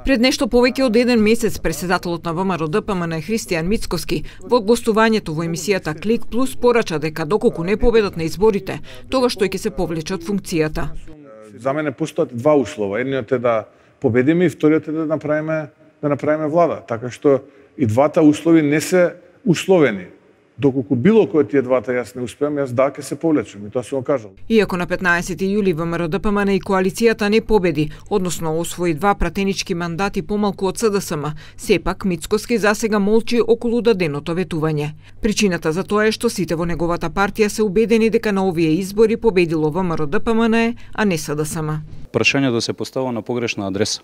Пред нешто повеќе од еден месец претседателот на ВМРО-ДПМН Христијан Мицкоски во гостувањето во емисијата Клик Плюс порача дека доколку не победат на изборите, тогаш тој ќе се повлече од функцијата. За мене постојат два услова. Едниот е да победиме и вториот е да направиме влада. Така што и двата услови не се условени. Доколку било кој тие двата јас не успеам, јас ќе се повлечам, и тоа сум го кажал. Иако на 15 јули ВМРО-ДПМН и коалицијата не победи, односно освои два пратенички мандати помалку од СДСМ, сепак Мицкоски засега молчи околу даденото ветување. Причината за тоа е што сите во неговата партија се убедени дека на овие избори победило ВМРО-ДПМН, а не СДСМ. Прашањето се поставува на погрешна адреса.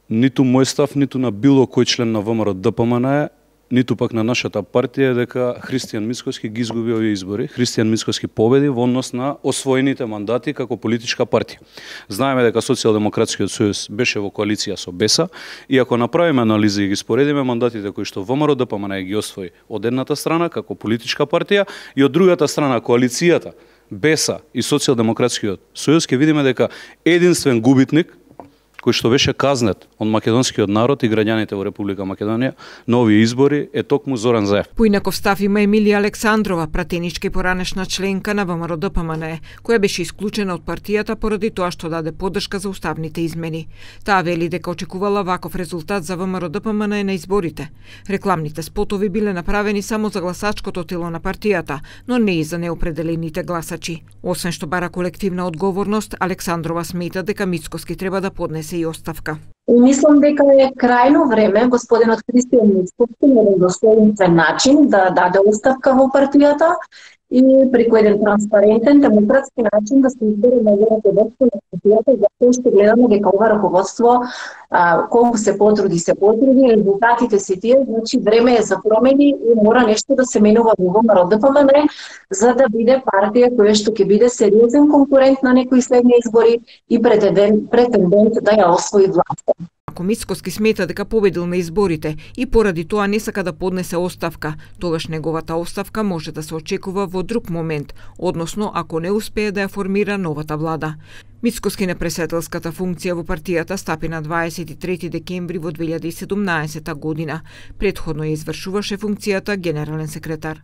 Ниту мој став, ниту на било кој член на ВМРО-ДПМН, ниту пак на нашата партија дека Христијан Мицкоски ги изгуби овие избори. Христијан Мицкоски победи во однос на освоените мандати како политичка партија. Знаеме дека Социјалдемократскиот сојуз беше во коалиција со БЕСА и ако направиме анализа и ги споредиме мандатите кои што ВМРО-ДПМН ги освои од едната страна како политичка партија и од другата страна коалицијата БЕСА и Социјалдемократскиот сојуз, ќе видиме дека единствен губитник кој што беше казнет од македонскиот народ и граѓаните во Република Македонија на овие избори е токму Зоран Заев. Поинаков став има Емилија Александрова, пратеничка и поранешна членка на ВМРО-ДПМН, која беше исклучена од партијата поради тоа што даде поддршка за уставните измени. Таа вели дека очекувала ваков резултат за ВМРО-ДПМН на изборите. Рекламните спотови биле направени само за гласачкото тело на партијата, но не и за неопределените гласачи. Освен што бара колективна одговорност, Александрова смета дека Мицкоски треба да поднесе и оставка. Мислам дека е крајно време господинот Христијан Мицкоски на еден достоинствен начин да даде оставка во партијата и преку еден транспарентен, демократски начин да се избере неговото водство на партијата, затоа што гледаме дека ова раководство колку се потруди, резултатите се тие, значи време е за промени и мора нешто да се менува во ВМРО-ДПМН за да биде партија која што ќе биде сериозен конкурент на некои следни избори и претендент да ја освои власта. Ако Мицкоски смета дека победил на изборите и поради тоа не сака да поднесе оставка, тогаш неговата оставка може да се очекува во друг момент, односно ако не успее да ја формира новата влада. Мицкоски на председателската функција во партијата стапи на 23 декември во 2017 година. Претходно ја извршуваше функцијата генерален секретар.